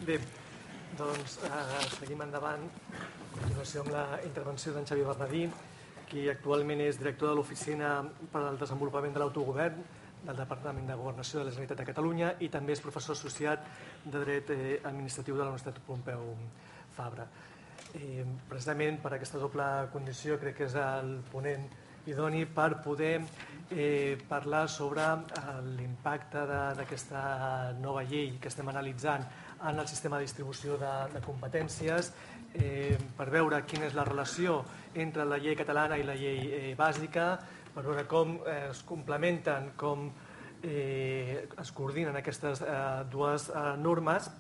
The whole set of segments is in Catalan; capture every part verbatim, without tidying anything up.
Bé, doncs seguim endavant. A continuació amb la intervenció d'en Xavier Bernadí, qui actualment és director de l'Oficina per al Desenvolupament de l'Autogovern del Departament de Governació de la Generalitat de Catalunya i també és professor associat de Dret Administratiu de la Universitat Pompeu Fabra. Precisament per aquesta doble condició crec que és el ponent idoni per poder parlar sobre l'impacte d'aquesta nova llei que estem analitzant en el sistema de distribució de competències, per veure quina és la relació entre la llei catalana i la llei bàsica, per veure com es complementen, com es coordinen aquestes dues normes,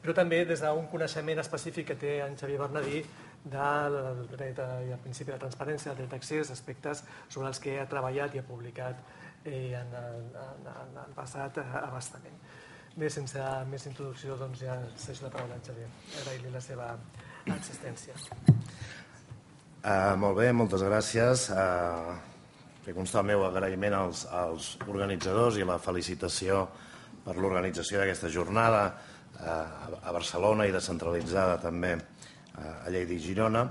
però també des d'un coneixement específic que té en Xavier Bernadí del dret i el principi de transparència, del dret d'accés, aspectes sobre els que ha treballat i ha publicat en el passat abastament. Bé, sense més introducció, doncs ja cedo la paraula a en Xavier. Agrair-li la seva assistència. Molt bé, moltes gràcies. Que consta el meu agraïment als organitzadors i la felicitació per l'organització d'aquesta jornada a Barcelona i descentralitzada també a Lleida i Girona.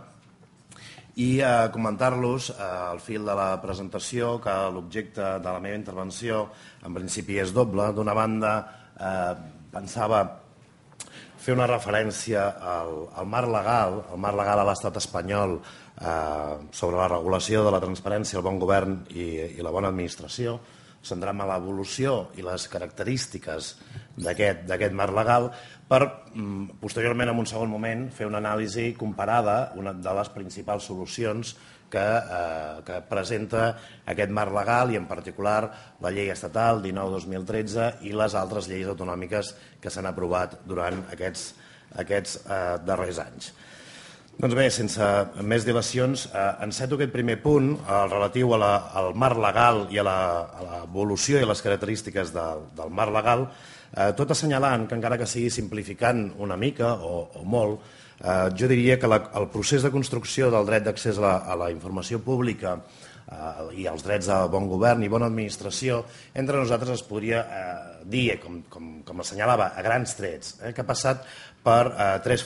I comentar-los al fil de la presentació que l'objecte de la meva intervenció en principi és doble. D'una banda, pensava fer una referència al marc legal, al marc legal a l'estat espanyol sobre la regulació de la transparència, el bon govern i la bona administració, centrant-me en l'evolució i les característiques d'aquest marc legal per, posteriorment, en un segon moment, fer una anàlisi comparada, una de les principals solucions que presenta aquest marc legal i, en particular, la llei estatal dinou dos mil tretze i les altres lleis autonòmiques que s'han aprovat durant aquests darrers anys. Doncs bé, sense més dilacions, enceto aquest primer punt, el relatiu al marc legal i a l'evolució i les característiques del marc legal, tot assenyalant que, encara que sigui simplificant una mica o molt, jo diria que el procés de construcció del dret d'accés a la informació pública i els drets de bon govern i bona administració, entre nosaltres es podria dir, com assenyalava, a grans trets, que ha passat per tres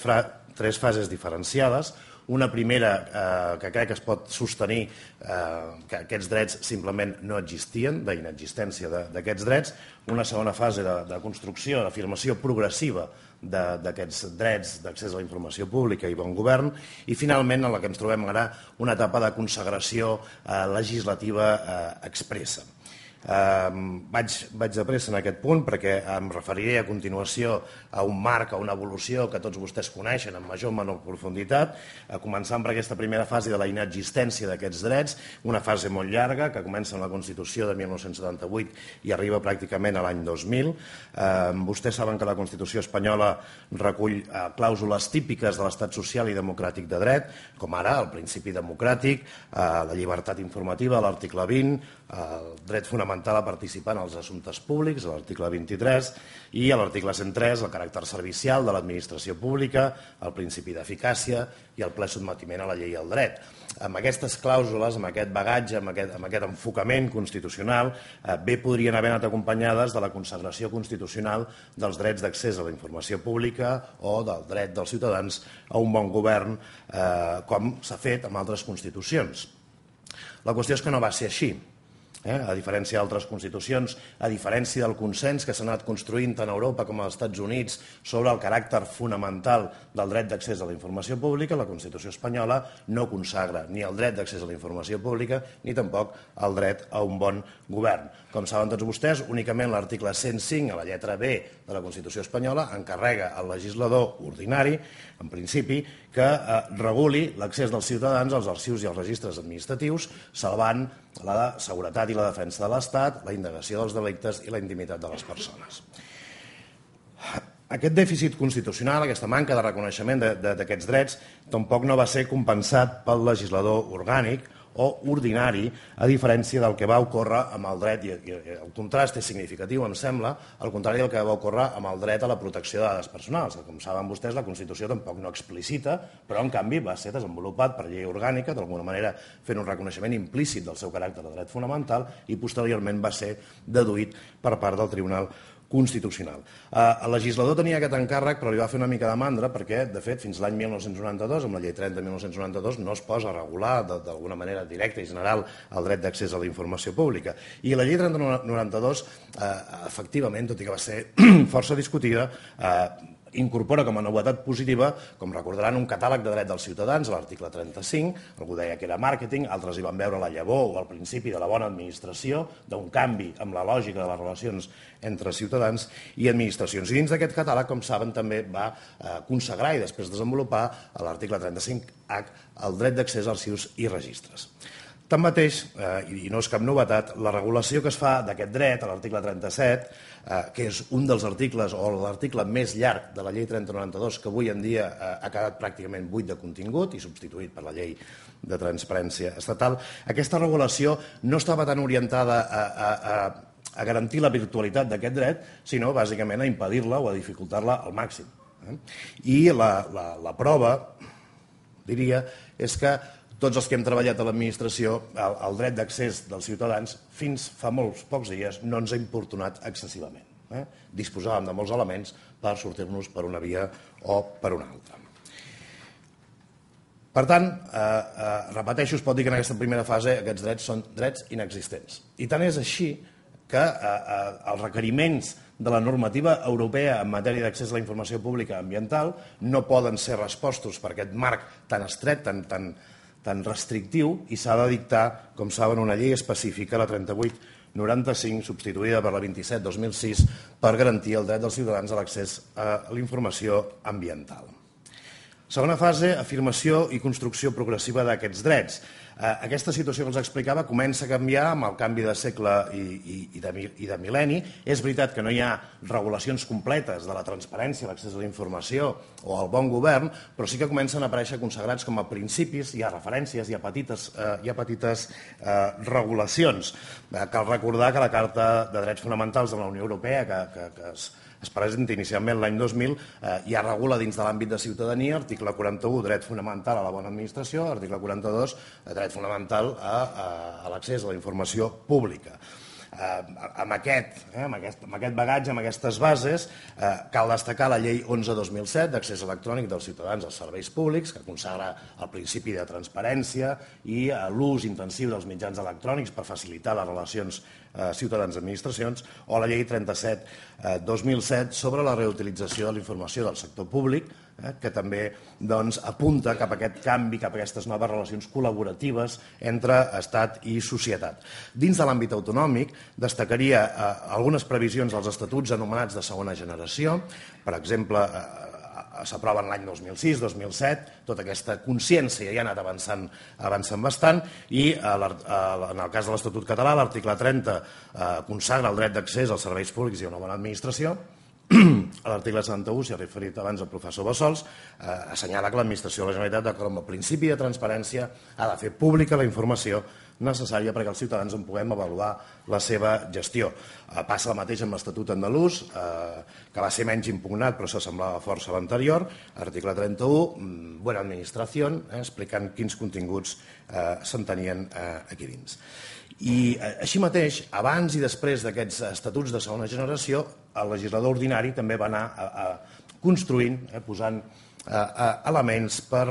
tres fases diferenciades. Una primera que crec que es pot sostenir que aquests drets simplement no existien, d'inexistència d'aquests drets. Una segona fase de construcció, d'afirmació progressiva d'aquests drets d'accés a la informació pública i bon govern. I finalment, en la que ens trobem ara, una etapa de consagració legislativa expressa. Vaig de pressa en aquest punt perquè em referiré a continuació a un marc, a una evolució que tots vostès coneixen en major o menor profunditat, començant per aquesta primera fase de la inexistència d'aquests drets, una fase molt llarga que comença amb la Constitució de mil nou-cents setanta-vuit i arriba pràcticament a l'any dos mil. Vostès saben que la Constitució espanyola recull clàusules típiques de l'estat social i democràtic de dret, com ara el principi democràtic, la llibertat informativa, l'article vint, el dret fonamental a participar en els assumptes públics, l'article vint-i-tres, i a l'article cent tres, el caràcter servicial de l'administració pública, el principi d'eficàcia i el ple sotmetiment a la llei i al dret. Amb aquestes clàusules, amb aquest bagatge, amb aquest enfocament constitucional, bé podrien haver anat acompanyades de la consagració constitucional dels drets d'accés a la informació pública o del dret dels ciutadans a un bon govern, com s'ha fet amb altres constitucions. La qüestió és que no va ser així. A diferència d'altres constitucions, a diferència del consens que s'ha anat construint tant a Europa com als Estats Units sobre el caràcter fonamental del dret d'accés a la informació pública, la Constitució espanyola no consagra ni el dret d'accés a la informació pública ni tampoc el dret a un bon govern. Com saben tots vostès, únicament l'article cent cinc, a la lletra B de la Constitució espanyola, encarrega al legislador ordinari, en principi, que reguli l'accés dels ciutadans als arxius i als registres administratius, salvant la seguretat i la defensa de l'Estat, la indagació dels delictes i la intimitat de les persones. Aquest dèficit constitucional, aquesta manca de reconeixement d'aquests drets, tampoc no va ser compensat pel legislador orgànic o ordinari, a diferència del que va ocórrer amb el dret, i el contrast és significatiu, em sembla, al contrari del que va ocórrer amb el dret a la protecció de dades personals. Com saben vostès, la Constitució tampoc no explicita, però en canvi va ser desenvolupat per llei orgànica, d'alguna manera fent un reconeixement implícit del seu caràcter de dret fonamental, i posteriorment va ser deduït per part del Tribunal constitucional. El legislador tenia aquest encàrrec, però li va fer una mica de mandra perquè, de fet, fins l'any mil nou-cents noranta-dos, amb la llei trenta de mil nou-cents noranta-dos, no es posa a regular d'alguna manera directa i general el dret d'accés a la informació pública. I la llei trenta noranta-dos, efectivament, tot i que va ser força discutida, incorpora com a novetat positiva, com recordaran, un catàleg de drets dels ciutadans, a l'article trenta-cinc, algú deia que era màrqueting, altres hi van veure la llavor o el principi de la bona administració, d'un canvi amb la lògica de les relacions entre ciutadans i administracions. I dins d'aquest catàleg, com saben, també va consagrar i després desenvolupar a l'article trenta-cinc H el dret d'accés a arxius i registres. Tanmateix, i no és cap novetat, la regulació que es fa d'aquest dret, a l'article trenta-set, que és un dels articles o l'article més llarg de la llei trenta noranta-dos, que avui en dia ha quedat pràcticament buit de contingut i substituït per la llei de transparència estatal, aquesta regulació no estava tan orientada a garantir la virtualitat d'aquest dret, sinó bàsicament a impedir-la o a dificultar-la al màxim. I la prova, diria, és que tots els que hem treballat a l'administració, el dret d'accés dels ciutadans, fins fa molts pocs dies, no ens ha importunat excessivament. Disposàvem de molts elements per sortir-nos per una via o per una altra. Per tant, repeteixo, es pot dir que en aquesta primera fase aquests drets són drets inexistents. I tant és així que els requeriments de la normativa europea en matèria d'accés a la informació pública ambiental no poden ser respostos per aquest marc tan estret, tan tan tan restrictiu, i s'ha de dictar, com saben, una llei específica, la trenta-vuit noranta-cinc, substituïda per la vint-i-set dos mil sis, per garantir el dret dels ciutadans a l'accés a la informació ambiental. Segona fase, afirmació i construcció progressiva d'aquests drets. Aquesta situació que els explicava comença a canviar amb el canvi de segle i de mil·lenni. És veritat que no hi ha regulacions completes de la transparència, l'accés a la informació o al bon govern, però sí que comencen a aparèixer consagrats com a principis, hi ha referències, hi ha petites, hi ha petites regulacions. Cal recordar que la Carta de Drets Fonamentals de la Unió Europea, que, que es es presenta inicialment l'any dos mil, ja regula dins de l'àmbit de ciutadania, article quaranta-u, dret fonamental a la bona administració, article quaranta-dos, dret fonamental a l'accés a la informació pública. Amb aquest bagatge, amb aquestes bases, cal destacar la llei onze dos mil set d'accés electrònic dels ciutadans als serveis públics, que consagra el principi de transparència i l'ús intensiu dels mitjans electrònics per facilitar les relacions ciutadans-administracions, o la llei trenta-set dos mil set sobre la reutilització de la informació del sector públic, que també apunta cap a aquest canvi, cap a aquestes noves relacions col·laboratives entre Estat i societat. Dins de l'àmbit autonòmic destacaria algunes previsions dels estatuts anomenats de segona generació. Per exemple, s'aproven l'any dos mil sis dos mil set, tota aquesta consciència ja ha anat avançant bastant, i en el cas de l'Estatut català, l'article trenta consagra el dret d'accés als serveis públics i a una bona administració. A l'article setanta-u, s'hi ha referit abans el professor Bassols, assenyala que l'administració de la Generalitat, d'acord amb el principi de transparència, ha de fer pública la informació necessària perquè els ciutadans en puguem avaluar la seva gestió. Passa el mateix amb l'Estatut andalús, que va ser menys impugnat però s'assemblava força a l'anterior, article trenta-u, buena administració, explicant quins continguts s'entenien aquí dins. I així mateix, abans i després d'aquests estatuts de segona generació, el legislador ordinari també va anar construint, posant elements per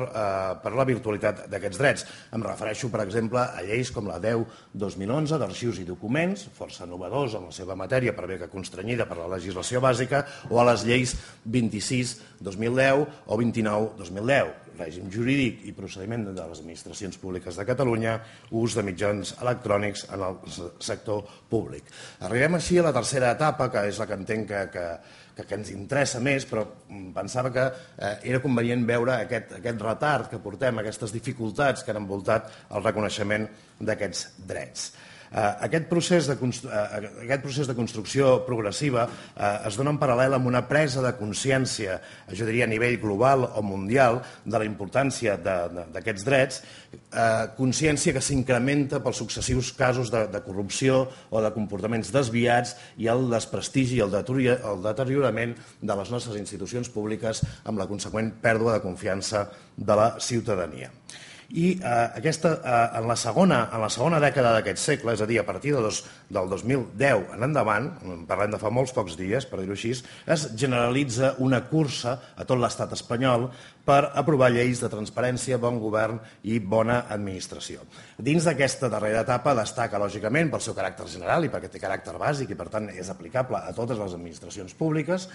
la virtualitat d'aquests drets. Em refereixo, per exemple, a lleis com la deu dos mil onze d'arxius i documents, força novedós en la seva matèria, per bé que constrenyida per la legislació bàsica, o a les lleis vint-i-sis dos mil deu o vint-i-nou dos mil deu, règim jurídic i procediment de les administracions públiques de Catalunya, ús de mitjans electrònics en el sector públic. Arribem així a la tercera etapa, que és la que entenc que que ens interessa més, però pensava que era convenient veure aquest retard que portem, aquestes dificultats que han envoltat el reconeixement d'aquests drets. Aquest procés de construcció progressiva es dona en paral·lel amb una presa de consciència, jo diria a nivell global o mundial, de la importància d'aquests drets, consciència que s'incrementa pels successius casos de corrupció o de comportaments desviats i el desprestigi i el deteriorament de les nostres institucions públiques amb la conseqüent pèrdua de confiança de la ciutadania. I aquesta, en la segona, en la segona dècada d'aquest segle, és a dir, a partir de dos, del dos mil deu en endavant, parlem de fa molts pocs dies, per dir-ho així, es generalitza una cursa a tot l'estat espanyol per aprovar lleis de transparència, bon govern i bona administració. Dins d'aquesta darrera etapa destaca, lògicament, pel seu caràcter general i perquè té caràcter bàsic i, per tant, és aplicable a totes les administracions públiques,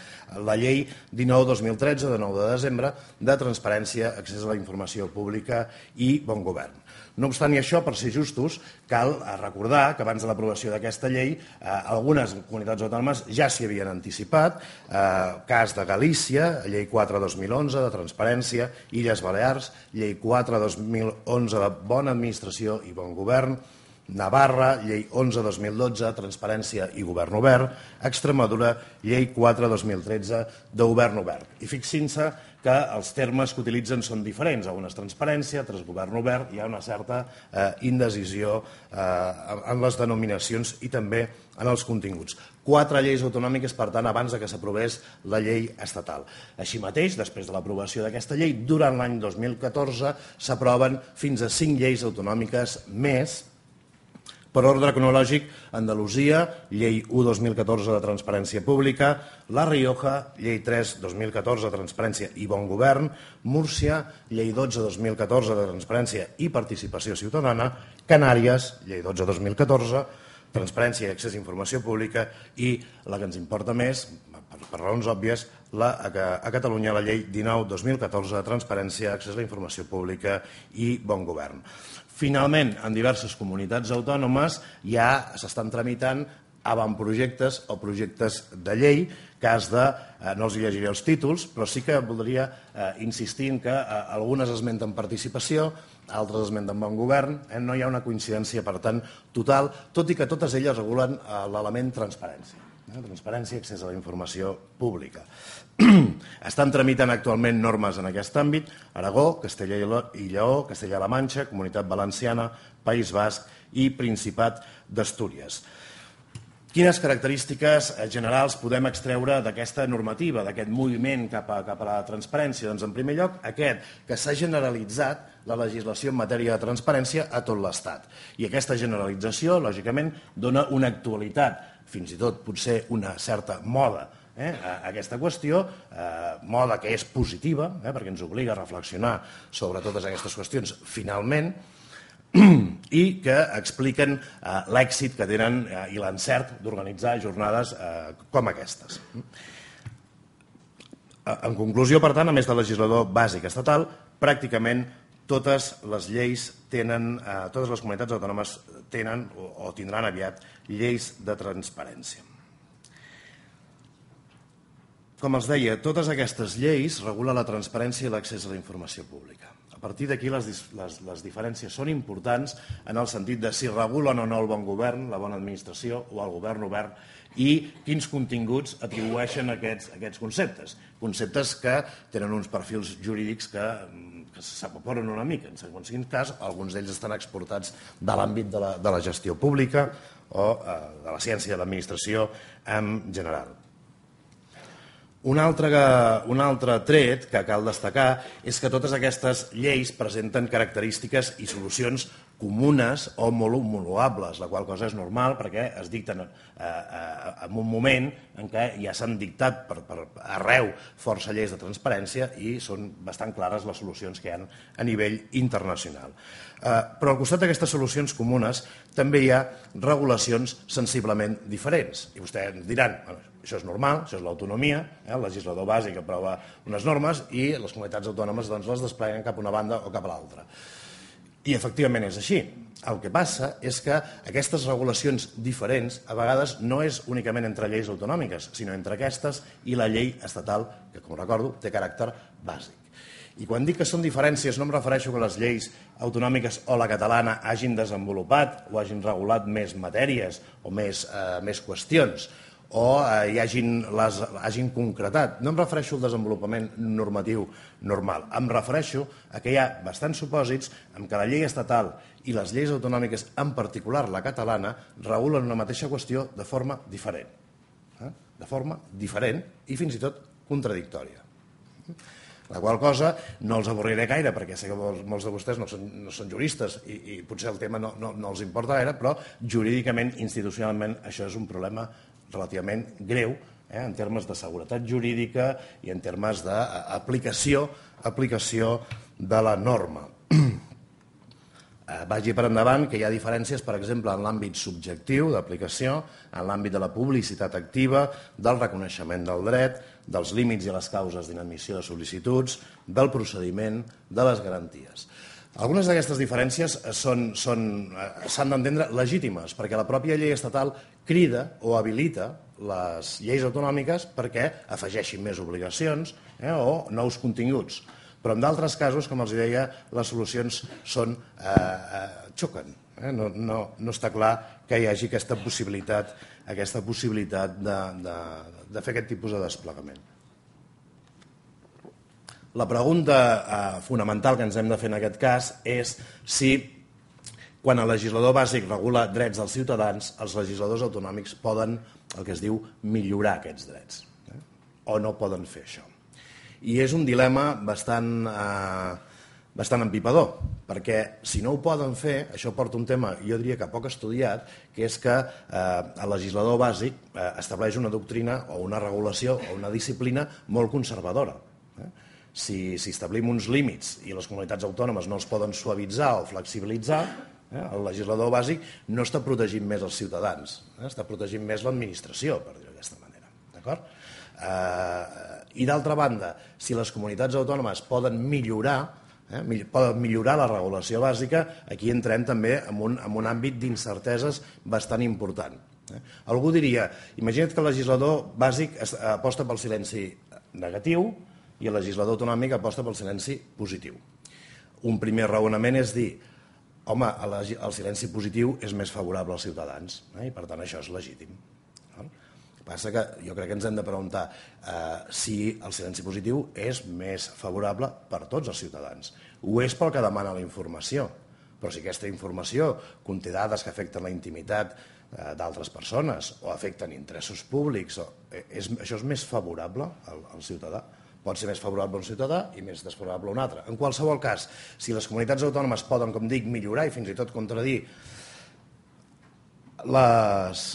la llei dinou dos mil tretze, de nou de desembre, de transparència, accés a la informació pública i bon govern. No obstant i això, per ser justos, cal recordar que abans de l'aprovació d'aquesta llei algunes comunitats autònomes ja s'hi havien anticipat, cas de Galícia, llei quatre dos mil onze de transparència, Illes Balears, llei quatre dos mil onze de bona administració i bon govern, Navarra, llei onze dos mil dotze, transparència i govern obert, Extremadura, llei quatre dos mil tretze de govern obert. I fixin-se que els termes que utilitzen són diferents. A un és transparència, altres govern obert, hi ha una certa indecisió en les denominacions i també en els continguts. Quatre lleis autonòmiques, per tant, abans que s'aprovés la llei estatal. Així mateix, després de l'aprovació d'aquesta llei, durant l'any dos mil catorze s'aproven fins a cinc lleis autonòmiques més. Per ordre cronològic, Andalusia, llei u dos mil catorze de transparència pública, La Rioja, llei tres dos mil catorze de transparència i bon govern, Múrcia, llei dotze dos mil catorze de transparència i participació ciutadana, Canàries, llei dotze dos mil catorze, transparència i accés a informació pública i, la que ens importa més, per raons òbvies, a Catalunya la llei dinou dos mil catorze de transparència, accés a la informació pública i bon govern. Finalment, en diverses comunitats autònomes ja s'estan tramitant avantprojectes o projectes de llei, cas de, no els llegiré els títols, però sí que voldria insistir en que algunes esmenten participació, altres esmenten bon govern, no hi ha una coincidència, per tant, total, tot i que totes elles regulen l'element transparència. Transparència i accés a la informació pública. Estan tramitant actualment normes en aquest àmbit Aragó, Castella i Lleó, Castella-La Manxa, Comunitat Valenciana, País Basc i Principat d'Astúries. Quines característiques generals podem extreure d'aquesta normativa, d'aquest moviment cap a la transparència? Doncs, en primer lloc, aquest, que s'ha generalitzat la legislació en matèria de transparència a tot l'Estat. I aquesta generalització, lògicament, dona una actualitat, fins i tot potser una certa moda a aquesta qüestió, moda que és positiva, perquè ens obliga a reflexionar sobre totes aquestes qüestions finalment, i que expliquen l'èxit que tenen i l'encert d'organitzar jornades com aquestes. En conclusió, per tant, a més de legislador bàsic estatal, pràcticament totes les lleis tenen, totes les comunitats autònomes tenen o tindran aviat lleis de transparència. Com els deia, totes aquestes lleis regulen la transparència i l'accés a la informació pública. A partir d'aquí les diferències són importants en el sentit de si regulen o no el bon govern, la bona administració o el govern obert i quins continguts atribueixen aquests conceptes. Conceptes que tenen uns perfils jurídics que s'evaporen una mica. En segons quin cas, alguns d'ells estan exportats de l'àmbit de la gestió pública o de la ciència de l'administració en general. Un altre tret que cal destacar és que totes aquestes lleis presenten característiques i solucions comunes o molt homologables, la qual cosa és normal perquè es dicten en un moment en què ja s'han dictat per arreu força lleis de transparència i són bastant clares les solucions que hi ha a nivell internacional. Però al costat d'aquestes solucions comunes també hi ha regulacions sensiblement diferents. I vostès ens diran, això és normal, això és l'autonomia, el legislador bàsic aprova unes normes i les comunitats autònomes les despleguen cap a una banda o cap a l'altra. I efectivament és així. El que passa és que aquestes regulacions diferents a vegades no és únicament entre lleis autonòmiques, sinó entre aquestes i la llei estatal, que, com recordo, té caràcter bàsic. I quan dic que són diferències no em refereixo que les lleis autonòmiques o la catalana hagin desenvolupat o hagin regulat més matèries o més qüestions o hi hagin concretat. No em refereixo al desenvolupament normatiu normal. Em refereixo a que hi ha bastants supòsits en què la llei estatal i les lleis autonòmiques, en particular la catalana, regulen una mateixa qüestió de forma diferent. De forma diferent i fins i tot contradictòria. La qual cosa no els avorriré gaire, perquè sé que molts de vostès no són, no són juristes i, i potser el tema no, no, no els importa gaire, però jurídicament, institucionalment, això és un problema relativament greu, eh, en termes de seguretat jurídica i en termes d'aplicació aplicació de la norma. Vagi per endavant que hi ha diferències, per exemple, en l'àmbit subjectiu d'aplicació, en l'àmbit de la publicitat activa, del reconeixement del dret, dels límits i les causes d'inadmissió de sol·licituds, del procediment, de les garanties. Algunes d'aquestes diferències s'han d'entendre legítimes, perquè la pròpia llei estatal crida o habilita les lleis autonòmiques perquè afegeixin més obligacions eh, o nous continguts. Però en d'altres casos, com els deia, les solucions són, eh, eh, xoquen. Eh? No, no, no està clar que hi hagi aquesta possibilitat, aquesta possibilitat de, de, de fer aquest tipus de desplegament. La pregunta eh, fonamental que ens hem de fer en aquest cas és si, quan el legislador bàsic regula drets dels ciutadans, els legisladors autonòmics poden, el que es diu, millorar aquests drets. Eh? O no poden fer això. I és un dilema bastant, eh, bastant empipador, perquè si no ho poden fer, això porta un tema, jo diria que poc estudiat, que és que eh, el legislador bàsic eh, estableix una doctrina o una regulació o una disciplina molt conservadora. Eh? Si, si establim uns límits i les comunitats autònomes no els poden suavitzar o flexibilitzar, eh, el legislador bàsic no està protegint més els ciutadans, eh? Està protegint més l'administració, per dir-ho d'aquesta manera. D'acord? Eh, I d'altra banda, si les comunitats autònomes poden millorar, eh, poden millorar la regulació bàsica, aquí entrem també en un, en un àmbit d'incerteses bastant important. Eh. Algú diria, imagina't que el legislador bàsic aposta pel silenci negatiu i el legislador autonòmic aposta pel silenci positiu. Un primer raonament és dir, home, el silenci positiu és més favorable als ciutadans, eh, i per tant això és legítim. Passa que jo crec que ens hem de preguntar eh, si el silenci positiu és més favorable per tots els ciutadans. Ho és pel que demana la informació, però si aquesta informació conté dades que afecten la intimitat eh, d'altres persones o afecten interessos públics, o, eh, és, això és més favorable al, al ciutadà. Pot ser més favorable a un ciutadà i més desfavorable a un altre. En qualsevol cas, si les comunitats autònomes poden, com dic, millorar i fins i tot contradir les...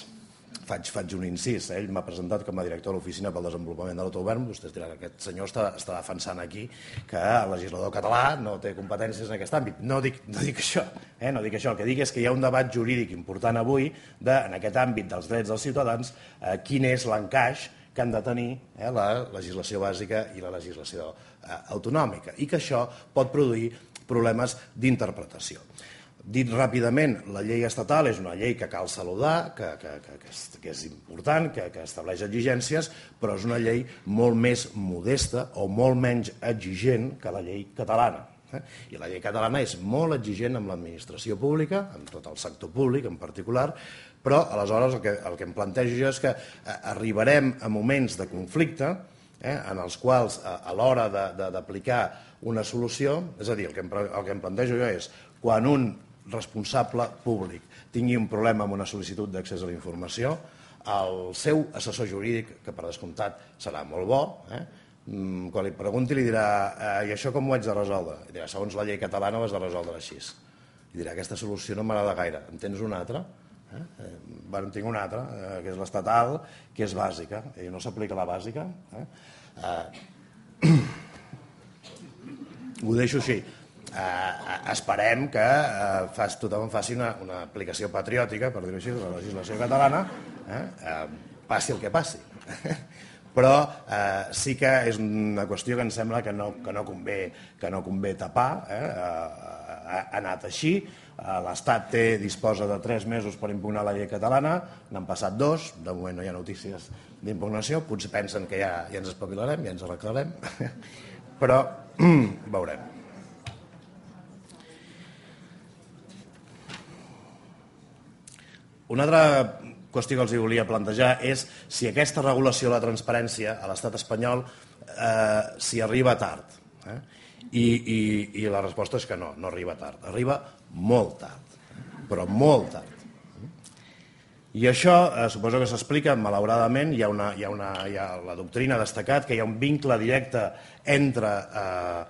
Faig, faig un incís, eh? Ell m'ha presentat com a director de l'Oficina pel Desenvolupament de l'Autogovern. Vostès diran que aquest senyor està, està defensant aquí que el legislador català no té competències en aquest àmbit. No dic, no dic això, eh? no dic això. El que dic és que hi ha un debat jurídic important avui de, en aquest àmbit dels drets dels ciutadans, eh, quin és l'encaix que han de tenir eh, la legislació bàsica i la legislació eh, autonòmica, i que això pot produir problemes d'interpretació. Dit ràpidament, la llei estatal és una llei que cal saludar, que, que, que, que, és, que és important, que, que estableix exigències, però és una llei molt més modesta o molt menys exigent que la llei catalana. Eh? I la llei catalana és molt exigent amb l'administració pública, amb tot el sector públic en particular, però aleshores el que, el que em plantejo jo és que arribarem a moments de conflicte eh, en els quals a, a l'hora d'aplicar una solució, és a dir, el que, em, el que em plantejo jo és quan un responsable públic tingui un problema amb una sol·licitud d'accés a la informació, el seu assessor jurídic, que per descomptat serà molt bo, eh, quan li pregunti li dirà eh, i això com ho haig de resoldre? I dirà, segons la llei catalana ho has de resoldre així. I dirà, aquesta solució no m'agrada gaire, en tens una altra? Eh? Eh, bueno, en tinc una altra, eh, que és l'estatal, que és bàsica. I no s'aplica la bàsica? Eh? Eh, ho deixo així. Eh, esperem que eh, fas, tothom faci una, una aplicació patriòtica, per dir-ho així, de la legislació catalana, eh, eh, passi el que passi. Però eh, sí que és una qüestió que em sembla que no, que no, convé, que no convé tapar. Eh, ha anat així, l'Estat té, disposa de tres mesos per impugnar la llei catalana, n'han passat dos, de moment no hi ha notícies d'impugnació, potser pensen que ja, ja ens espavilarem, ja ens arreglarem, però veurem. Una altra qüestió que els volia plantejar és si aquesta regulació de la transparència a l'estat espanyol eh, s'hi arriba tard. Eh? I, i, I la resposta és que no, no arriba tard. Arriba molt tard, però molt tard. I això suposo que s'explica, malauradament, hi ha una, hi ha una, hi ha la doctrina ha destacat que hi ha un vincle directe entre eh,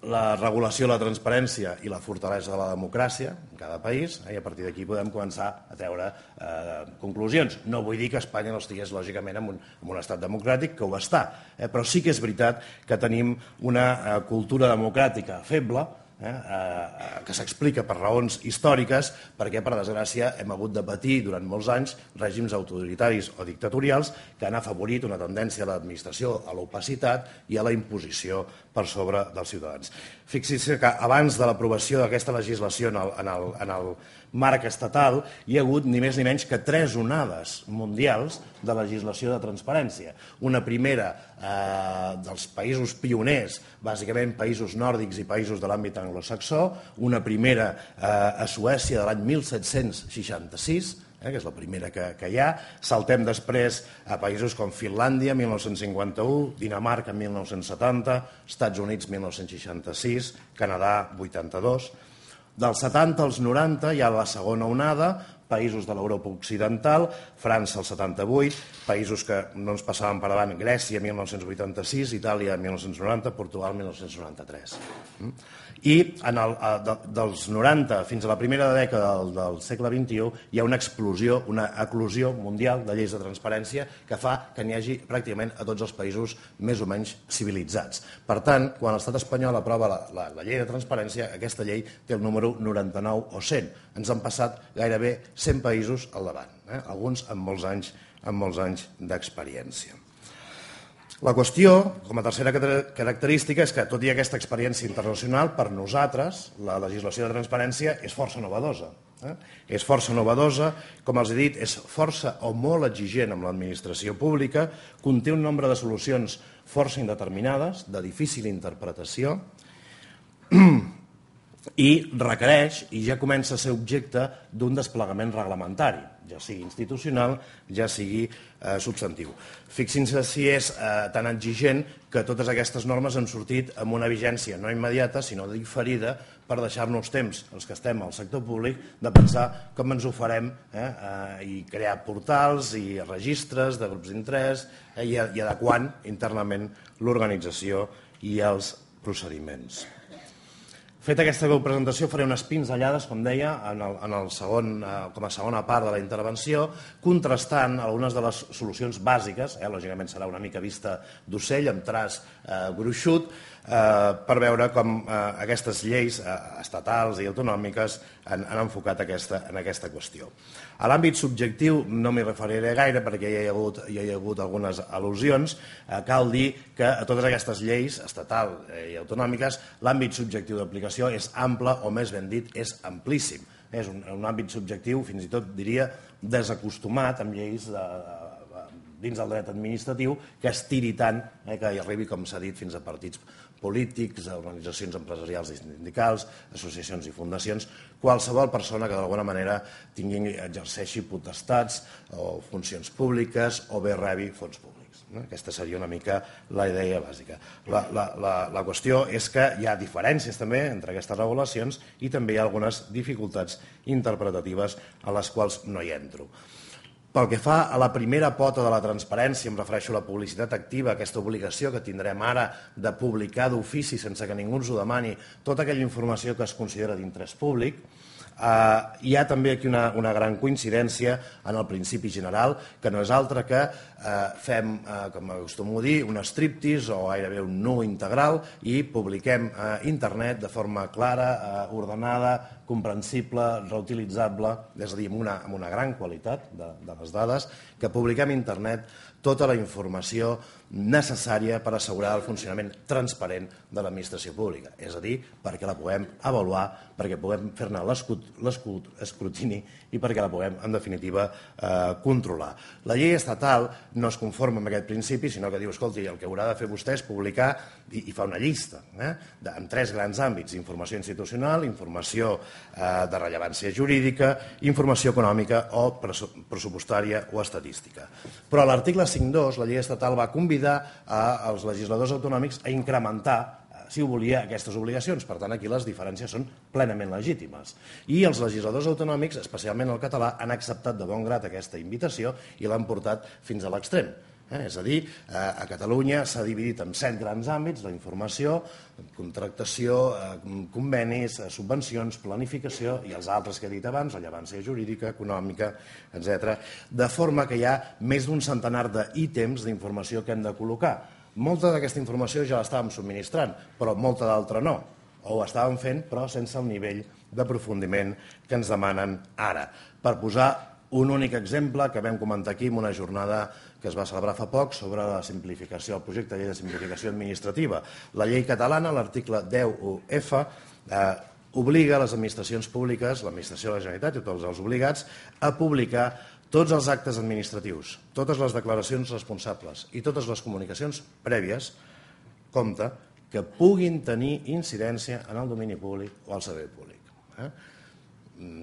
la regulació, la transparència i la fortalesa de la democràcia en cada país, eh, i a partir d'aquí podem començar a treure eh, conclusions. No vull dir que Espanya no estigués lògicament en un, en un estat democràtic, que ho està, eh, però sí que és veritat que tenim una eh, cultura democràtica feble, Eh, eh, que s'explica per raons històriques, perquè, per desgràcia, hem hagut de patir durant molts anys règims autoritaris o dictatorials que han afavorit una tendència a l'administració, a l'opacitat i a la imposició per sobre dels ciutadans. Fixi-se que abans de l'aprovació d'aquesta legislació en el, en, el, en el marc estatal hi ha hagut ni més ni menys que tres onades mundials de legislació de transparència. Una primera eh, dels països pioners, bàsicament països nòrdics i països de l'àmbit anglosaxó, una primera eh, a Suècia de l'any mil set-cents seixanta-sis, eh, que és la primera que, que hi ha. Saltem després a països com Finlàndia, mil nou-cents cinquanta-u, Dinamarca, mil nou-cents setanta, Estats Units, mil nou-cents seixanta-sis, Canadà, vuitanta-dos. Dels setanta als noranta hi ha la segona onada, països de l'Europa occidental, França el setanta-vuit, països que no ens passaven per davant, Grècia mil nou-cents vuitanta-sis, Itàlia mil nou-cents noranta, Portugal mil nou-cents noranta-tres. I en el, de, dels noranta fins a la primera dècada del, del segle vint-i-u hi ha una explosió, una eclosió mundial de lleis de transparència que fa que n'hi hagi pràcticament a tots els països més o menys civilitzats. Per tant, quan l'estat espanyol aprova la, la, la llei de transparència, aquesta llei té el número noranta-nou o cent. Ens han passat gairebé cent països al davant, eh? Alguns amb molts anys, amb molts anys d'experiència. La qüestió, com a tercera característica, és que, tot i aquesta experiència internacional, per nosaltres, la legislació de transparència és força novedosa. Eh? És força novedosa, com els he dit, és força o molt exigent amb l'administració pública, conté un nombre de solucions força indeterminades, de difícil interpretació, i requereix, i ja comença a ser objecte d'un desplegament reglamentari, ja sigui institucional, ja sigui eh, substantiu. Fixin-se si és eh, tan exigent que totes aquestes normes han sortit amb una vigència no immediata, sinó diferida, per deixar-nos temps, els que estem al sector públic, de pensar com ens ho farem eh, eh, i crear portals i registres de grups d'interès eh, i, i adequant internament l'organització i els procediments. Feta aquesta presentació, faré unes pinzellades, com deia, en el, en el segon, eh, com a segona part de la intervenció, contrastant algunes de les solucions bàsiques, eh, lògicament serà una mica vista d'ocell, amb traç eh, gruixut, eh, per veure com eh, aquestes lleis eh, estatals i autonòmiques han, han enfocat aquesta, en aquesta qüestió. A l'àmbit subjectiu no m'hi referiré gaire perquè ja hi ha hagut, ja hi ha hagut algunes al·lusions. Eh, cal dir que a totes aquestes lleis estatal i autonòmiques l'àmbit subjectiu d'aplicació és ample, o més ben dit, és amplíssim. És un, un àmbit subjectiu, fins i tot diria, desacostumat amb lleis de, de, dins del dret administratiu que estiri tant eh, que hi arribi, com s'ha dit, fins a partits polítics, organitzacions empresarials i sindicals, associacions i fundacions, qualsevol persona que d'alguna manera tingui, exerceixi potestats o funcions públiques o bé rebi fons públics. Aquesta seria una mica la idea bàsica. La, la, la, la qüestió és que hi ha diferències també entre aquestes regulacions i també hi ha algunes dificultats interpretatives a les quals no hi entro. Pel que fa a la primera pota de la transparència, em refereixo a la publicitat activa, aquesta obligació que tindrem ara de publicar d'ofici sense que ningú ens ho demani tota aquella informació que es considera d'interès públic, eh, hi ha també aquí una, una gran coincidència en el principi general, que no és altre que eh, fem, eh, com acostumo a dir, un striptease o gairebé un nu integral i publiquem a eh, internet de forma clara, eh, ordenada, comprensible, reutilitzable, és a dir, amb una, amb una gran qualitat de, de les dades, que publiquem a internet tota la informació necessària per assegurar el funcionament transparent de l'administració pública. És a dir, perquè la puguem avaluar, perquè puguem fer-ne l'escrutini i perquè la puguem, en definitiva, eh, controlar. La llei estatal no es conforma amb aquest principi, sinó que diu, escolti, el que haurà de fer vostè és publicar, i, i fa una llista, eh, de, en tres grans àmbits: informació institucional, informació eh, de rellevància jurídica, informació econòmica o pressupostària o estadística. Però l'article cinc punt dos, la llei estatal va convidar als legisladors autonòmics a incrementar si ho volia, aquestes obligacions. Per tant, aquí les diferències són plenament legítimes. I els legisladors autonòmics, especialment el català, han acceptat de bon grat aquesta invitació i l'han portat fins a l'extrem. Eh? És a dir, eh, a Catalunya s'ha dividit en set grans àmbits: la informació, contractació, eh, convenis, eh, subvencions, planificació i els altres que he dit abans, rellevància jurídica, econòmica, etcètera. De forma que hi ha més d'un centenar d'ítems d'informació que hem de col·locar. Molta d'aquesta informació ja l'estàvem subministrant, però molta d'altra no. O ho estàvem fent, però sense el nivell d'aprofundiment que ens demanen ara. Per posar un únic exemple que vam comentar aquí en una jornada que es va celebrar fa poc sobre la simplificació, el projecte de llei de simplificació administrativa. La llei catalana, l'article deu u efa, eh, obliga les administracions públiques, l'administració de la Generalitat i tots els obligats, a publicar tots els actes administratius, totes les declaracions responsables i totes les comunicacions prèvies, compte, que puguin tenir incidència en el domini públic o al servei públic. Eh?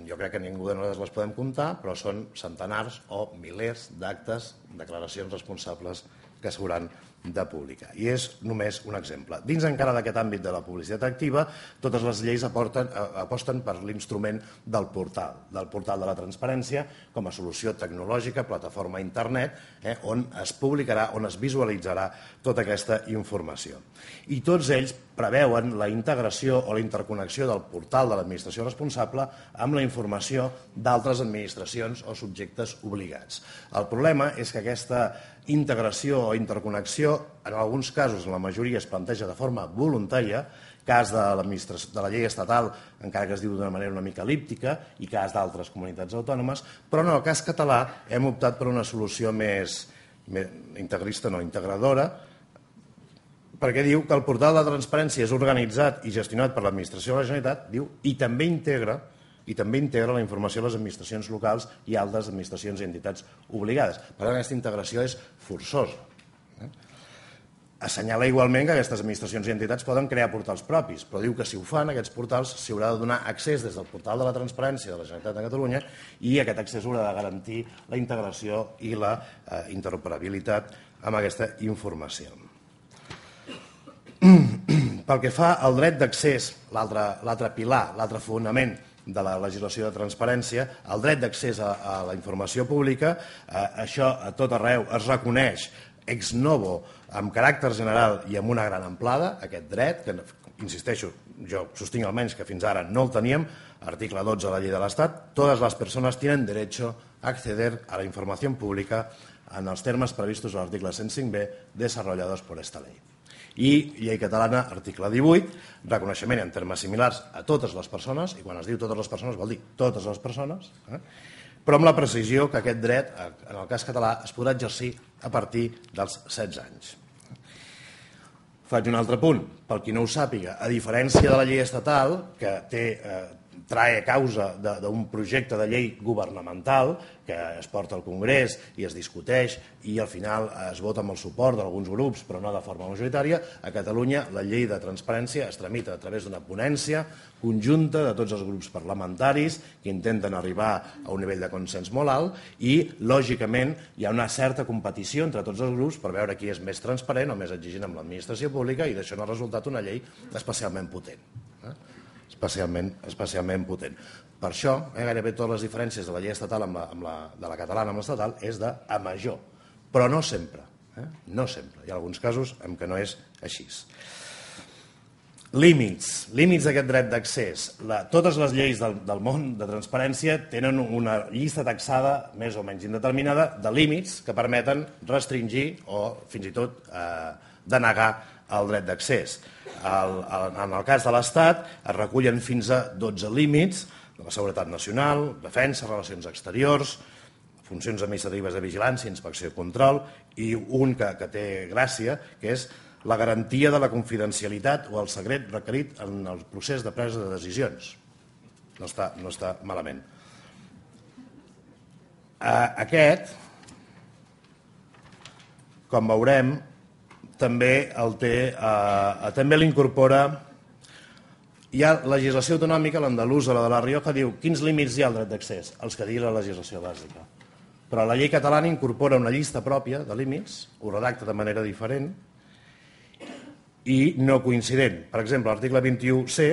Jo crec que ningú de nosaltres les podem comptar, però són centenars o milers d'actes, declaracions responsables que s'hauran de publicar. I és només un exemple. Dins encara d'aquest àmbit de la publicitat activa, totes les lleis aporten, aposten per l'instrument del portal, del portal de la transparència, com a solució tecnològica, plataforma internet, eh, on es publicarà, on es visualitzarà tota aquesta informació. I tots ells preveuen la integració o la interconnexió del portal de l'administració responsable amb la informació d'altres administracions o subjectes obligats. El problema és que aquesta integració o interconnexió, en alguns casos, en la majoria, es planteja de forma voluntària, cas de, de la llei estatal, encara que es diu d'una manera una mica elíptica, i cas d'altres comunitats autònomes, però en el cas català hem optat per una solució més, més integrista, no, integradora, perquè diu que el portal de transparència és organitzat i gestionat per l'administració de la Generalitat, diu, i també integra i també integra la informació de les administracions locals i altres administracions i entitats obligades. Per tant, aquesta integració és forçosa. Assenyala igualment que aquestes administracions i entitats poden crear portals propis, però diu que si ho fan, aquests portals s'hi haurà de donar accés des del portal de la transparència de la Generalitat de Catalunya i aquest accés haurà de garantir la integració i la eh, interoperabilitat amb aquesta informació. Pel que fa al dret d'accés, l'altre pilar, l'altre fonament de la legislació de transparència, el dret d'accés a, a la informació pública, eh, això a tot arreu es reconeix ex novo amb caràcter general i amb una gran amplada, aquest dret, que insisteixo, jo sostinc almenys que fins ara no el teníem, article dotze de la llei de l'Estat, totes les persones tienen derecho a acceder a la información pública en els termes previstos a l'article cent cinc be desarrollados por esta ley. I llei catalana, article divuit, reconeixement en termes similars a totes les persones, i quan es diu totes les persones vol dir totes les persones, eh? però amb la precisió que aquest dret, en el cas català, es podrà exercir a partir dels setze anys. Faig un altre punt, pel qui no ho sàpiga, a diferència de la llei estatal, que té, eh, trae causa d'un projecte de llei governamental que es porta al Congrés i es discuteix i al final es vota amb el suport d'alguns grups, però no de forma majoritària, a Catalunya la llei de transparència es tramita a través d'una ponència conjunta de tots els grups parlamentaris que intenten arribar a un nivell de consens molt alt i, lògicament, hi ha una certa competició entre tots els grups per veure qui és més transparent o més exigent amb l'administració pública i d'això n'ha resultat una llei especialment potent. Eh? Especialment, especialment potent. Per això, eh, gairebé totes les diferències de la llei estatal amb la, amb la, de la catalana amb l'estatal és de a major, però no sempre. Eh? No sempre. Hi ha alguns casos en què no és així. Límits. Límits d'aquest dret d'accés. Totes les lleis del, del món de transparència tenen una llista taxada més o menys indeterminada de límits que permeten restringir o fins i tot eh, denegar el dret d'accés. En el cas de l'Estat es recullen fins a dotze límits de la seguretat nacional, defensa, relacions exteriors, funcions administratives de vigilància, inspecció i control, i un que, que té gràcia, que és la garantia de la confidencialitat o el secret requerit en el procés de presa de decisions. No està, no està malament. Aquest, com veurem, també el té, eh, també l'incorpora. Hi ha legislació autonòmica, l'andalusa, la de la Rioja, diu quins límits hi ha al dret d'accés? Els que digui la legislació bàsica. Però la llei catalana incorpora una llista pròpia de límits, ho redacta de manera diferent, i no coincident. Per exemple, l'article vint-i-u ce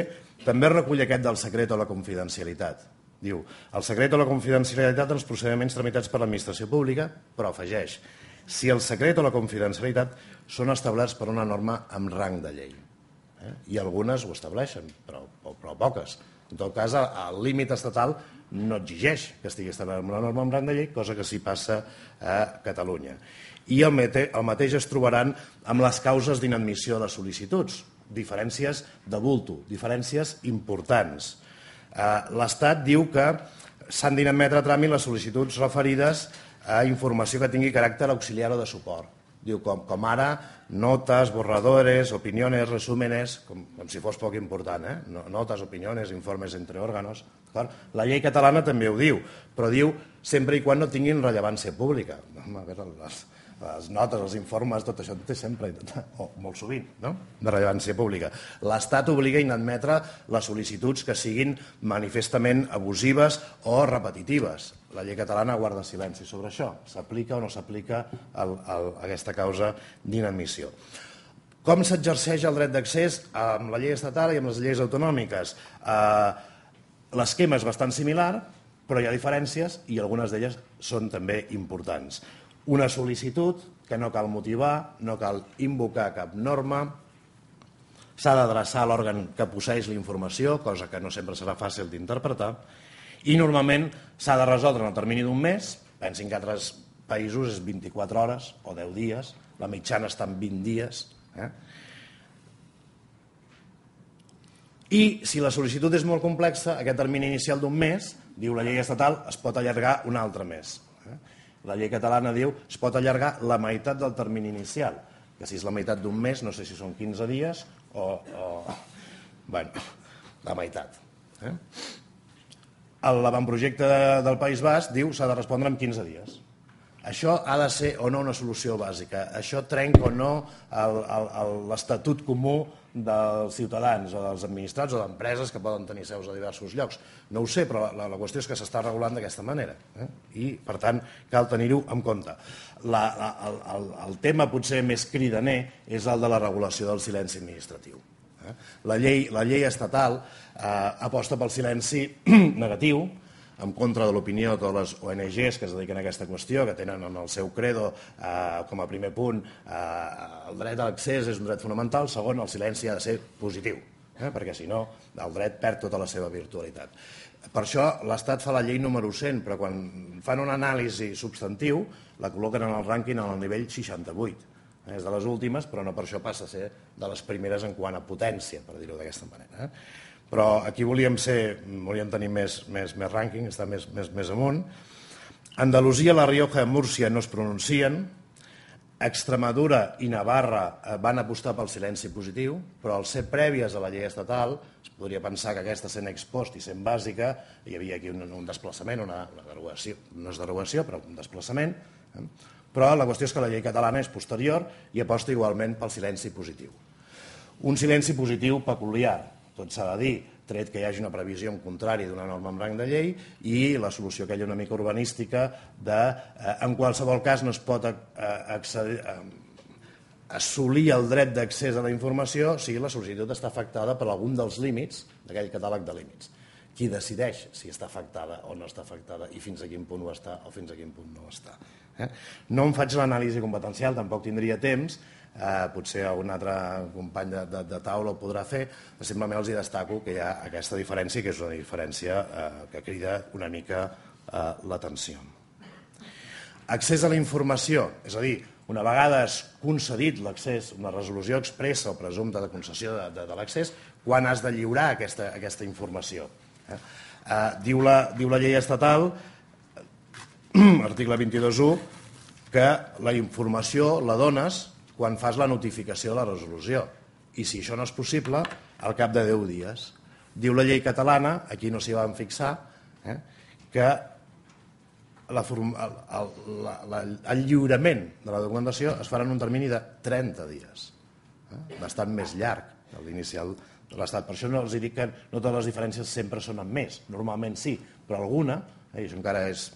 també recull aquest del secret o la confidencialitat. Diu, el secret o la confidencialitat en els procediments tramitats per l'administració pública, però afegeix, si el secret o la confidencialitat són establerts per una norma amb rang de llei. Eh? I algunes ho estableixen, però, però poques. En tot cas, el límit estatal no exigeix que estigui establert una norma amb rang de llei, cosa que sí passa a Catalunya. I el, el mateix es trobaran amb les causes d'inadmissió de les sol·licituds. Diferències de bulto, diferències importants. L'Estat diu que s'han d'inadmetre a tràmit les sol·licituds referides a informació que tingui caràcter auxiliar o de suport. Diu, com, com ara, notes, borradores, opiniones, resúmenes, com, com si fos poc important, eh? Notes, opiniones, informes entre òrganos. La llei catalana també ho diu, però diu sempre i quan no tinguin rellevància pública. A veure, les, les notes, els informes, tot això té sempre, o molt sovint, no? De rellevància pública. L'Estat obliga a inadmetre les sol·licituds que siguin manifestament abusives o repetitives. La llei catalana guarda silenci sobre això. S'aplica o no s'aplica aquesta causa d'inadmissió. Com s'exerceix el dret d'accés amb la llei estatal i amb les lleis autonòmiques? L'esquema és bastant similar, però hi ha diferències i algunes d'elles són també importants. Una sol·licitud que no cal motivar, no cal invocar cap norma, s'ha d'adreçar a l'òrgan que posseix la informació, cosa que no sempre serà fàcil d'interpretar, i normalment s'ha de resoldre en el termini d'un mes, pensin que altres països és vint-i-quatre hores o deu dies, la mitjana està en vint dies. Eh? I si la sol·licitud és molt complexa, aquest termini inicial d'un mes, diu la llei estatal, es pot allargar un altre mes. Eh? La llei catalana diu es pot allargar la meitat del termini inicial, que si és la meitat d'un mes, no sé si són quinze dies o... o bueno, la meitat. Eh? L'avantprojecte del País Basc diu que s'ha de respondre en quinze dies. Això ha de ser o no una solució bàsica. Això trenca o no l'estatut comú dels ciutadans o dels administrats o d'empreses que poden tenir seus a diversos llocs. No ho sé, però la, la qüestió és que s'està regulant d'aquesta manera. Eh? I, per tant, cal tenir-ho en compte. La, la, el, el tema potser més cridaner és el de la regulació del silenci administratiu. La llei, la llei estatal eh, aposta pel silenci negatiu, en contra de l'opinió de totes les O N Ges que es dediquen a aquesta qüestió, que tenen en el seu credo eh, com a primer punt eh, el dret a l'accés és un dret fonamental, segon, el silenci ha de ser positiu, eh, perquè si no el dret perd tota la seva virtualitat. Per això l'Estat fa la llei número cent, però quan fan una anàlisi substantiu la col·loquen en el rànquing en el nivell seixanta-vuit. És de les últimes, però no per això passa a ser de les primeres en quant a potència, per dir-ho d'aquesta manera. Però aquí volíem ser, volíem tenir més, més, més rànquing, estar més, més, més amunt. Andalusia, La Rioja i Múrcia no es pronuncien. Extremadura i Navarra van apostar pel silenci positiu, però al ser prèvies a la llei estatal, es podria pensar que aquesta sent ex post i sent bàsica, hi havia aquí un, un desplaçament, una, una derogació, no és derogació, però un desplaçament, eh? Però la qüestió és que la llei catalana és posterior i aposta igualment pel silenci positiu. Un silenci positiu peculiar, tot s'ha de dir, tret que hi hagi una previsió en contrari d'una norma amb rang de llei i la solució aquella una mica urbanística de, eh, en qualsevol cas no es pot eh, accedir, eh, assolir el dret d'accés a la informació si la sol·licitud està afectada per algun dels límits d'aquell catàleg de límits. Qui decideix si està afectada o no està afectada i fins a quin punt ho està o fins a quin punt no ho està. Eh? No em faig l'anàlisi competencial, tampoc tindria temps, eh, potser algun altre company de, de, de taula ho podrà fer, simplement els hi destaco que hi ha aquesta diferència, que és una diferència eh, que crida una mica eh, l'atenció. Accés a la informació, és a dir, una vegada has concedit l'accés, una resolució expressa o presumpta de concessió de, de, de l'accés, quan has de lliurar aquesta, aquesta informació. Eh? Eh, diu, la, diu la llei estatal, article vint-i-dos punt u, que la informació la dones quan fas la notificació de la resolució. I si això no és possible, al cap de deu dies. Diu la llei catalana, aquí no s'hi van fixar, eh, que la, el, la, la, el lliurament de la documentació es farà en un termini de trenta dies. Eh, bastant més llarg que l'inicial de l'Estat. Per això no els dic que no totes les diferències sempre són en més. Normalment sí, però alguna, eh, i això encara és...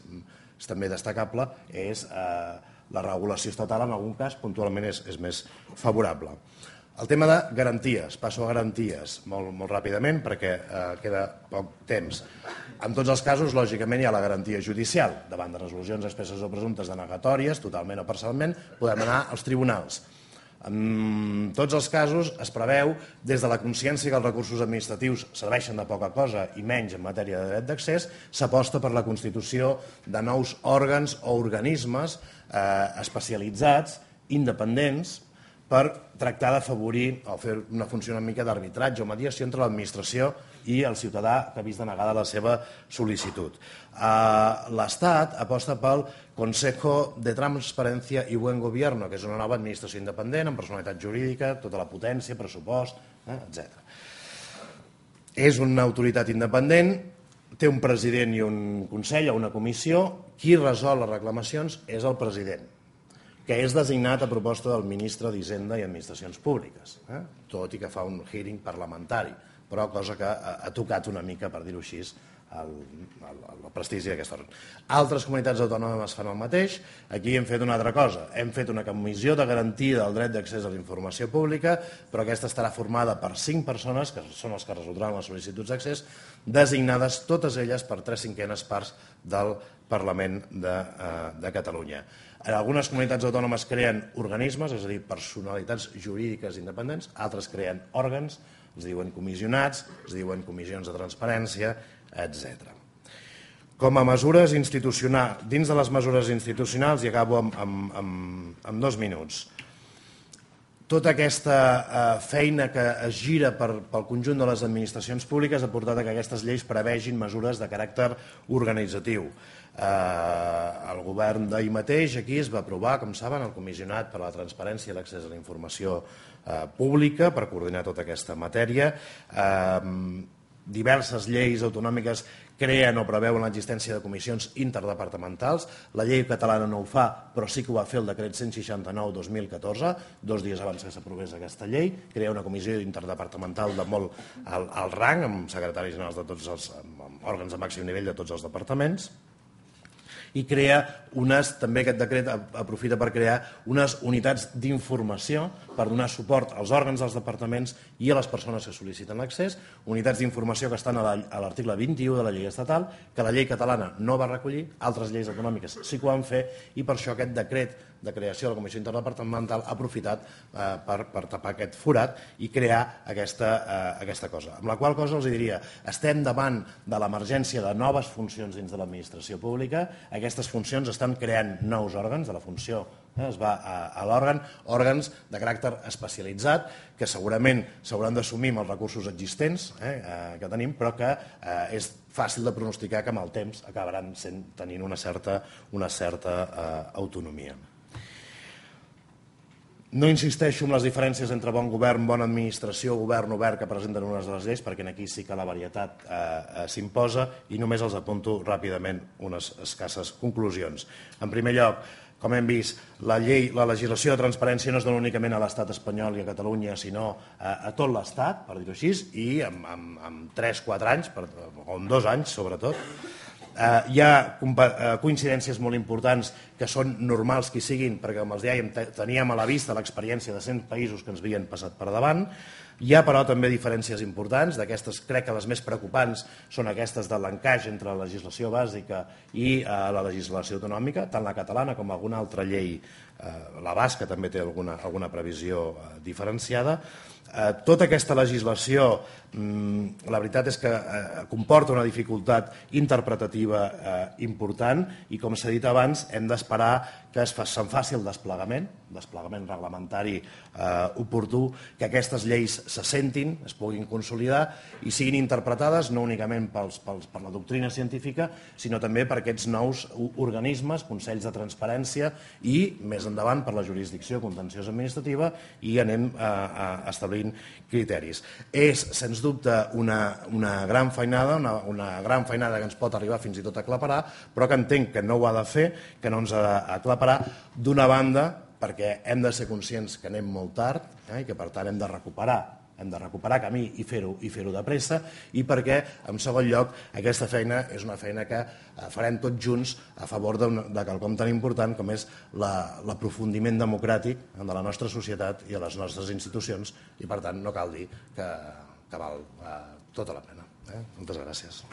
és també destacable, és eh, la regulació estatal en algun cas puntualment és, és més favorable. El tema de garanties, passo a garanties molt, molt ràpidament perquè eh, queda poc temps. En tots els casos, lògicament, hi ha la garantia judicial. Davant de resolucions expresses o presumptes denegatòries, totalment o parcialment, podem anar als tribunals. En tots els casos es preveu, des de la consciència que els recursos administratius serveixen de poca cosa i menys en matèria de dret d'accés, s'aposta per la constitució de nous òrgans o organismes eh, especialitzats, independents, per tractar d'afavorir o fer una funció una mica d'arbitratge o mediació entre l'administració i el ciutadà que ha vist denegada la seva sol·licitud. L'Estat aposta pel Consejo de Transparencia y Buen Gobierno, que és una nova administració independent, amb personalitat jurídica, tota la potència, pressupost, etcètera. És una autoritat independent, té un president i un consell o una comissió. Qui resol les reclamacions és el president, que és designat a proposta del ministre d'Hisenda i Administracions Públiques, eh? tot i que fa un hearing parlamentari, però cosa que ha tocat una mica, per dir-ho així, el, el, el prestigi d'aquest òrgan. Altres comunitats autònomes fan el mateix. Aquí hem fet una altra cosa. Hem fet una comissió de garantia del dret d'accés a la informació pública, però aquesta estarà formada per cinc persones, que són els que resoldran les sol·licituds d'accés, designades totes elles per tres cinquenes parts del Parlament de, eh, de Catalunya. En algunes comunitats autònomes creen organismes, és a dir, personalitats jurídiques independents, altres creen òrgans, es diuen comissionats, es diuen comissions de transparència, etcètera. Com a mesures institucionals, dins de les mesures institucionals, i acabo amb, amb, amb, amb dos minuts, tota aquesta eh, feina que es gira per, pel conjunt de les administracions públiques ha portat a que aquestes lleis prevegin mesures de caràcter organitzatiu. Eh, el govern d'ahir mateix aquí es va aprovar, com saben, el Comissionat per a la Transparència i l'Accés a la Informació eh, Pública per coordinar tota aquesta matèria. Eh, diverses lleis autonòmiques creen o preveuen l'existència de comissions interdepartamentals. La llei catalana no ho fa, però sí que ho va fer el decret cent seixanta-nou dos mil catorze, dos dies abans que s'aprovés aquesta llei. Crea una comissió interdepartamental de molt alt, alt rang, amb secretaris generals de tots els amb òrgans de màxim nivell de tots els departaments. I crea unes, també aquest decret aprofita per crear unes unitats d'informació per donar suport als òrgans dels departaments i a les persones que sol·liciten l'accés, unitats d'informació que estan a l'article vint-i-u de la llei estatal, que la llei catalana no va recollir, altres lleis autonòmiques sí que ho van fer, i per això aquest decret de creació de la Comissió Interdepartamental ha aprofitat eh, per, per tapar aquest forat i crear aquesta, eh, aquesta cosa. Amb la qual cosa els diria, estem davant de l'emergència de noves funcions dins de l'administració pública. Aquestes funcions estan creant nous òrgans de la funció, eh, es va a, a l'òrgan, òrgans de caràcter especialitzat que segurament s'hauran d'assumir amb els recursos existents eh, que tenim, però que eh, és fàcil de pronosticar que amb el temps acabaran sent, tenint una certa, una certa eh, autonomia. No insisteixo en les diferències entre bon govern, bona administració, govern obert que presenten unes de les lleis, perquè aquí sí que la varietat eh, eh, s'imposa, i només els apunto ràpidament unes escasses conclusions. En primer lloc, com hem vist, la llei, la legislació de transparència no es dona únicament a l'estat espanyol i a Catalunya, sinó a, a tot l'estat, per dir-ho així, i en, en, en tres o quatre anys, per, o en dos anys sobretot. Eh, hi ha coincidències molt importants que són normals que hi siguin, perquè com els dèiem teníem a la vista l'experiència de cent països que ens havien passat per davant. Hi ha però també diferències importants, d'aquestes crec que les més preocupants són aquestes de l'encaix entre la legislació bàsica i eh, la legislació autonòmica, tant la catalana com alguna altra llei, eh, la basca també té alguna, alguna previsió eh, diferenciada. Eh, tota aquesta legislació, mm, la veritat és que eh, comporta una dificultat interpretativa eh, important i, com s'ha dit abans, hem d'esperar que es fa, se'n faci el desplegament, desplegament reglamentari eh, oportú, que aquestes lleis se sentin, es puguin consolidar i siguin interpretades no únicament pels, pels, per la doctrina científica, sinó també per aquests nous organismes, consells de transparència i, més endavant, per la jurisdicció contenciosa administrativa, i anem a, a establir criteris. És, sens dubte, una, una gran feinada, una, una gran feinada que ens pot arribar fins i tot a aclaparar, però que entenc que no ho ha de fer, que no ens ha d'aclaparar, d'una banda, perquè hem de ser conscients que anem molt tard eh, i que, per tant, hem de recuperar hem de recuperar camí i fer-ho i fer-ho de pressa, i perquè, en segon lloc, aquesta feina és una feina que farem tots junts a favor de quelcom tan important com és l'aprofundiment democràtic de la nostra societat i de les nostres institucions, i per tant no cal dir que val tota la pena. Moltes gràcies.